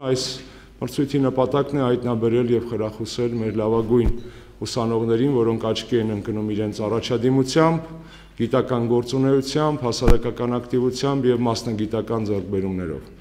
Այս մրցույթի նպատակն է հայտնաբերել եւ խրախուսել մեր լավագույն ուսանողներին, որոնք աչքի են ընկնում իրենց առաջադիմությամբ, գիտական գործունեությամբ, հասարակական ակտիվությամբ եւ մասնագիտական ձեռքբերումներով։